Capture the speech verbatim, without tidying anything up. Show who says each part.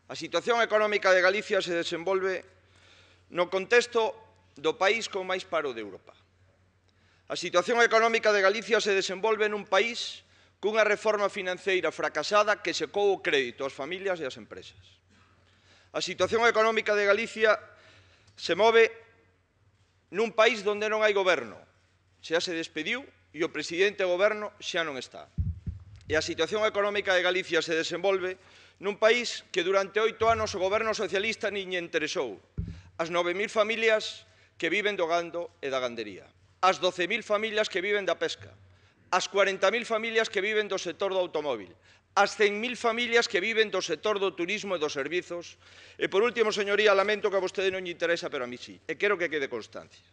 Speaker 1: A situación económica de Galicia se desenvolve no contexto do país con máis paro de Europa. A situación económica de Galicia se desenvolve nun país cunha reforma financeira fracasada que secou o crédito ás familias e ás empresas. A situación económica de Galicia se move nun país onde non hai goberno, xa se despediu e o presidente do goberno xa non está. E a situación económica de Galicia se desenvolve nun país que durante oito anos o goberno socialista nin lle interesou as nove mil familias que viven do gando e da gandería, as doce mil familias que viven da pesca, as cuarenta mil familias que viven do sector do automóbil, as cen mil familias que viven do sector do turismo e dos servizos. E, por último, señoría, lamento que a vostede non lle interesa, pero a mí sí, e quero que quede constancia.